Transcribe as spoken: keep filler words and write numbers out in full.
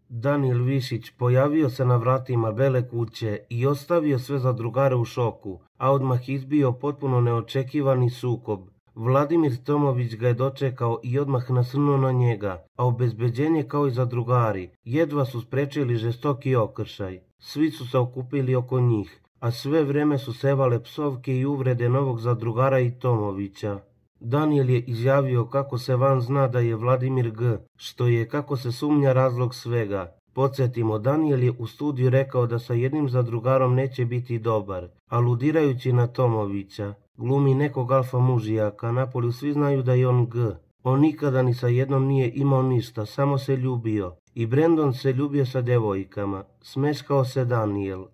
Danijel Višić pojavio se na vratima Bele kuće i ostavio sve zadrugare u šoku, a odmah izbio potpuno neočekivani sukob. Vladimir Tomović ga je dočekao i odmah nasrnuo na njega, a obezbeđenje kao i zadrugari jedva su sprečili žestoki okršaj. Svi su se okupili oko njih, a sve vreme su sevale psovke i uvrede novog zadrugara i Tomovića. Danijel je izjavio kako se van zna da je Vladimir G, što je, kako se sumnja, razlog svega. Podsjetimo, Danijel je u studiju rekao da sa jednim zadrugarom neće biti dobar, aludirajući na Tomovića. Glumi nekog alfa mužijaka, napolju svi znaju da je on G. On nikada ni sa jednom nije imao ništa, samo se ljubio. I Brendon se ljubio sa devojkama. Smeškao se Danijel.